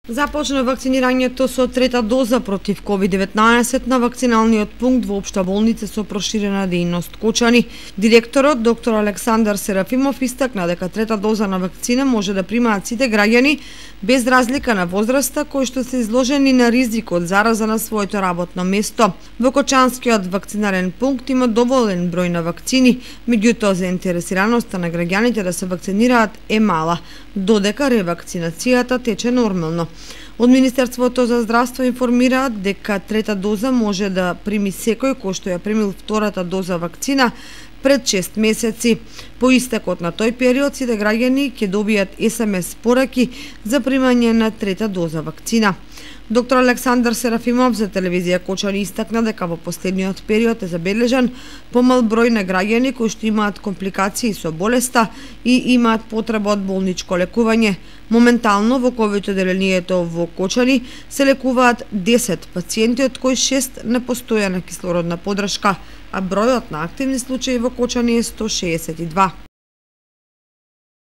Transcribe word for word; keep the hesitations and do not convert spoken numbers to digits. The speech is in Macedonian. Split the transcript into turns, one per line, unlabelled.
Започна вакцинирањето со трета доза против ковид деветнаесет на вакциналниот пункт во Општа болница со проширена дејност Кочани. Директорот доктор Александар Серафимов истакна дека трета доза на вакцина може да примаат сите граѓани без разлика на возраста кои што се изложени на ризик од зараза на своето работно место. Во Кочанскиот вакцинарен пункт има доволен број на вакцини, меѓутоа заинтересираноста на граѓаните да се вакцинираат е мала, додека ревакцинацијата тече нормално. Од Министерството за здравство информираат дека трета доза може да прими секој кој што ја примил втората доза вакцина пред шест месеци. По истекот на тој период сите граѓани ќе добијат ес ем ес пораки за примање на трета доза вакцина. Доктор Александар Серафимов за телевизија Кочани истакна дека во последниот период е забележан помал број на граѓани кои што имаат компликации со болеста и имаат потреба од болничко лекување. Моментално во ковид одделението во Кочани се лекуваат десет пациенти, од кои шест на постојана кислородна подршка, а бројот на активни случаи во Кочани е сто шеесет и два.